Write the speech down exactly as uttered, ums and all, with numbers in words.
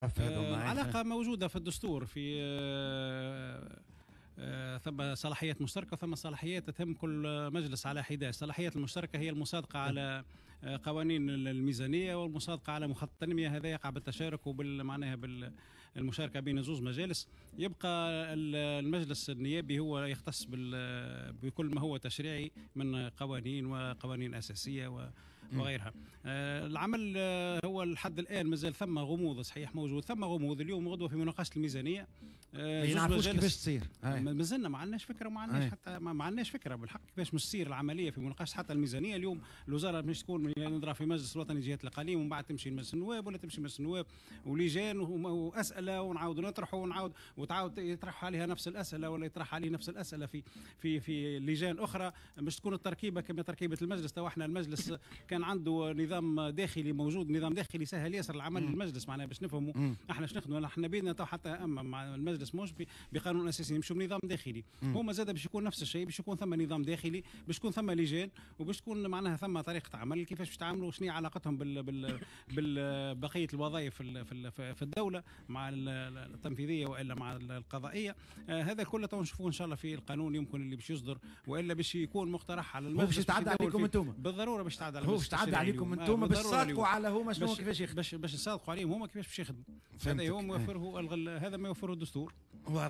العلاقة موجودة في الدستور، في آه، آه، ثم صلاحيات مشتركة وثم صلاحيات تهم كل مجلس على حده. الصلاحيات المشتركة هي المصادقة على آه، قوانين الميزانية والمصادقه على مخطط التنميه، هذا يقع بالتشارك وبال معناها بالمشاركة بين زوز مجالس. يبقى المجلس النيابي هو يختص بكل ما هو تشريعي من قوانين وقوانين اساسية وغيرها. آه، العمل هو لحد الان مازال ثم غموض، صحيح موجود ثم غموض. اليوم غدوه في مناقشة الميزانيه. ما نعرفوش كيفاش تصير. مازلنا ما عندناش فكره، وما عندناش حتى ما عندناش فكرة بالحق كيفاش مش تصير العملية في مناقشة حتى الميزانية. اليوم الوزارة مش تكون نضرب في مجلس الوطني جهات الاقاليم، ومن بعد تمشي لمجلس النواب ولا تمشي مجلس النواب ولجان واسئله، ونعاود نطرحوا ونعاود وتعاود يطرح عليها نفس الاسئلة ولا يطرح عليه نفس الاسئلة في في في لجان اخرى. باش تكون التركيبة كما تركيبه المجلس. تو احنا المجلس كان عنده نظام داخلي موجود، نظام داخلي سهل ياسر العمل للمجلس، معناها باش نفهموا احنا باش نخدموا احنا بيدنا. تو حتى اما مع المجلس مش بقانون اساسي، نمشوا بنظام داخلي. هما زاد باش يكون نفس الشيء، باش يكون ثم نظام داخلي، باش تكون ثم لجان، وباش تكون معناها ثم طريقه عمل كيفاش باش تعاملوا، شنو علاقتهم بال بال بالبقيه الوظائف في في في الدولة مع التنفيذية والا مع القضائيه. آه هذا كله تو نشوفوه ان شاء الله في القانون يمكن اللي باش يصدر والا باش يكون مقترح على المجلس. باش يتعدى عليكم انتم. بالضرورة باش يتعدى على باش يتعدى عليكم انتم، باش تصادقوا على هما شنو كيفاش يخدموا، باش باش نصادقوا عليهم هما كيفاش باش يخدموا. هذا هو يوفره هذا ما يوفره الدستور. واضح.